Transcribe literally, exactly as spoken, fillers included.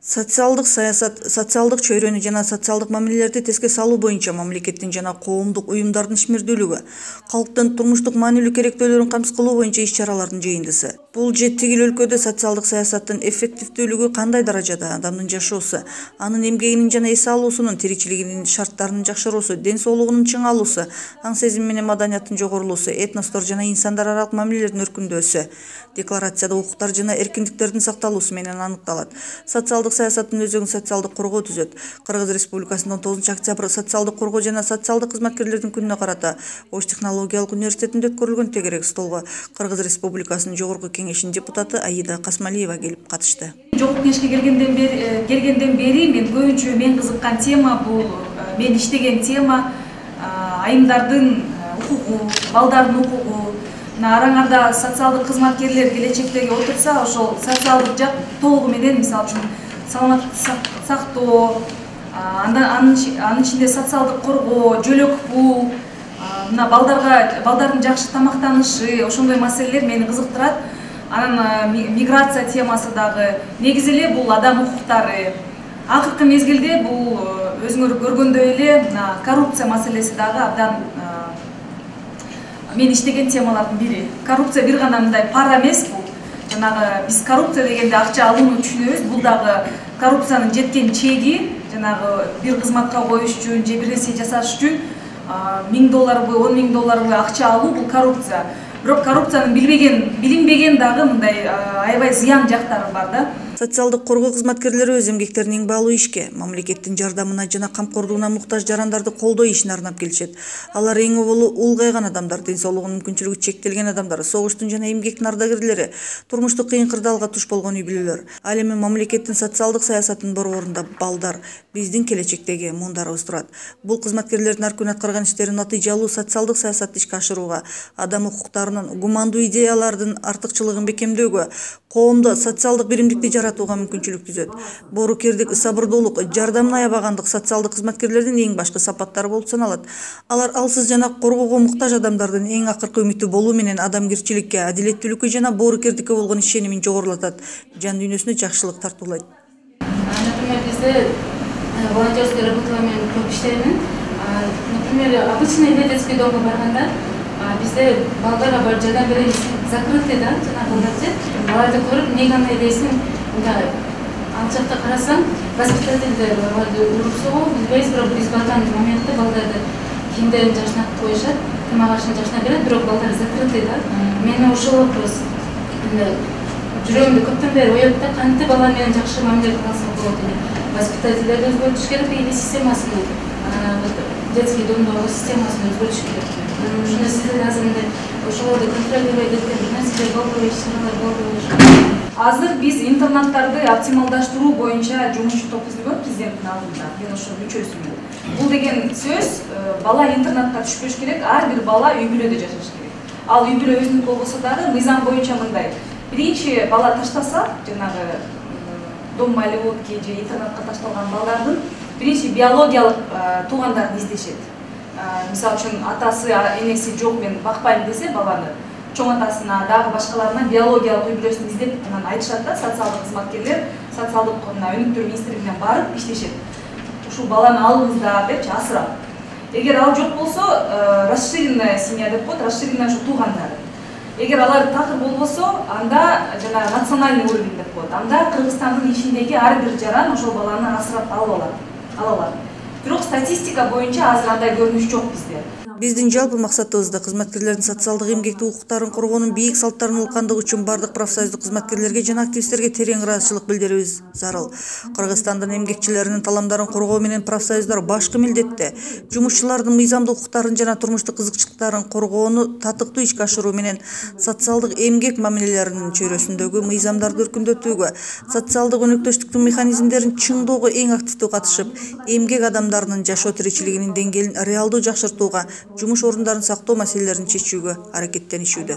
Социалдык саясат, социалдык чөйрөнү жана социалдык мамилелерди теске салуу боюнча мамлекеттин жана коомдук уюмдардын ишмердүүлүгү, калктын турмуштук маанилүү керектөөлөрүн камсыз кылуу боюнча иш-чаралардын жыйындысы. Бул же тигил өлкөдө социалдык саясаттын эффективдүүлүгү кандай даражада, адамдын жашоосу, анын эмгегинин жана эс алуусунун, тиричилигинин шарттарынын жакшыруусу, ден соолугунун чыңалуусу, аң сезим менен маданияттын жогорулуусу, этностор жана инсандар аралык мамилелердин өркүндөсү, декларацияда укуктар жана эркиндиктердин сакталуусу менен аныкталат. Социалдык саясаттын өзөгүн социалдык коргоо түзөт. Кыргыз Республикасынын он тогузунчу октябрь социалдык коргоо жана социалдык кызматкерлердин күнүнө карата Ош технологиялык университетинде өткөрүлгөн тегерек столго Кыргыз Республикасынын жогорку кеңешинин депутаты Аида Касмалиева келип катышты. Жогорку кеңешке келгенден бери келгенден бери мен көбүнчө мен кызыккан тема бул мен иштеген тема айымдардын укугу, балдардын укугу. Араңарда социалдык кызматкерлер келечектеги отурса, ошол социалдык жак толугу менен, мисалы үчүн саламаттык сактоо, анын ичинде социалдык коргоо, жөлөк пул, мына балдарга балдардын жакшы тамактанышы, ошондой маселелер мени кызыктырат. Анан миграция темасы дагы, негизи эле бул адам укуктары. Акыркы мезгилде бул өзүңөр көргөндөй эле коррупция маселеси дагы абдан мен иштеген темалардын бири. Коррупция бир гана мындай пара эмес бул. Жанагы биз коррупция дегенде акча алууну түшүнөбүз. Бул дагы коррупциянын жеткен чеги, жанагы бир кызматка коюш үчүн же бир нерсе жасаш үчүн миң долларбы, он миң долларбы акча алуу бул коррупция. Бирок коррупциянын билбеген, билинбеген дагы мындай аябай зыян жактары бар да. Социалдык коргоо кызматкерлери өз эмгектерин эң баалуу ишке, мамлекеттин жардамына жана камкордугуна муктаж жарандарды колдоо ишине арнап келишет. Алар эң оболу улгайган адамдар, ден соолугунун мүмкүнчүлүгү чектелген адамдар, согуштун жана эмгектин ардагерлери, турмуштук кыйын кырдаалга туш болгон үй бүлөлөр. Ал эми мамлекеттин социалдык саясатынын борборунда балдар, биздин келечектеги муундарыбыз турат. Бул кызматкерлердин ар күнү аткарган иштери натыйжалуу социалдык саясатты ишке ашырууга, адам укуктарынын, гумандуу идеялардын артыкчылыгын бекемдөөгө, коомдо социалдык биримдикти жаратууга мүмкүнчүлүк түзөт. Боорукердик, сабырдуулук, жардамын аябагандык социалдык кызматкерлердин эң башкы сапаттары болуп саналат. Алар алсыз жана коргоого муктаж адамдардын эң акыркы үмүтү болуу менен адамгерчиликке, адилеттүүлүккө жана боорукердикке болгон ишенимин жогорулатат, жан дүйнөсүнө жакшылык тартуулайт. Например, бизде волонтерская работа менен көп иштеймин. Например, обычный детский домго барганда бизде балдарга бар жардам беребиз, закрытый да, жанагыларды. Аларды көрүп, эмне гана элесин, мындай ал жакта карасаң, воспитательдер аларды уруп согуу, билбейбиз, бирок биз барган моментте балдарды кийимдерин жакшынап коюшат, тамак ашын жакшынап берет, бирок балдар закрытый да. Мени ошол вопрос жүрөгүмдө көптөн бери оёт да, кантип балар менен жакшы мамиле кылсак болот эле. Воспитательдерди өзгөртүш керек, или системасын, детский домдогу системасын өзгөртүш керек. Ушуну сиздер азыр мындай ошолорду контролировать эткен бир нерселер болбой, иш-чаралар болбой. Азыр биз интернаттарды оптималдаштыруу боюнча жумушчу топ түзүлгөн президенттин алдында. Мен ошо мүчөсүмүн. Бул деген сөз бала интернатка түшпөш керек, ар бир бала үй бүлөдө жашаш керек. Ал үй бүлө өзүнүн болбосо дагы мыйзам боюнча мындай. Биринчи бала таштаса, жанагы дом малютки же интернатка ташталган балдардын биринчи биологиялык туугандарын издешет. Мисалы үчүн атасы, энеси жок, мен бакпайм десе баланы, чоң атасына, дагы башкаларына биологиялык үй бүлөсүн издеп анан айтышат да, социалдык кызматкерлер, социалдык өнүктүрүү министрлигине барып иштешет. Ушул баланы алыңыздар депчи, асырап. Эгер ал жок болсо, расширенная семья деп коет, расширенная ушу туугандар. Эгер алар такыр болбосо, анда жана национальный уровень деп коет. Анда Кыргызстандын ичиндеги ар бир жаран ошол баланы асырап алып алат. Ала алат. Бирок статистика боюнча азыр андай көрүнүш жок бизде. Биздин жалпы максатыбызда кызматкерлердин социалдык эмгектик укуктарын коргоонун бийик салттарын улкандыгы үчүн бардык профсоюздук кызматкерлерге жана активисттерге терең ыраазычылык билдирүүбүз зарыл. Кыргызстандын эмгекчилеринин таламдарын коргоо менен профсоюздар башкы милдетте. Жумушчулардын мыйзамдуу укуктарын жана турмуштук кызыкчылыктарын коргоону татыктуу ишке ашыруу менен социалдык эмгек мамилелеринин чөйрөсүндөгү мыйзамдарды өркүндөтүүгө, социалдык өнөктөштүктүн механизмдерин чыңдоого эң активдүү катышып, эмгек адамдарынын жашоо тиричилигинин деңгээлин реалдуу жакшыртууга, жумуш орундарын сактоо маселелерин чечүүгө аракеттенишүүдө.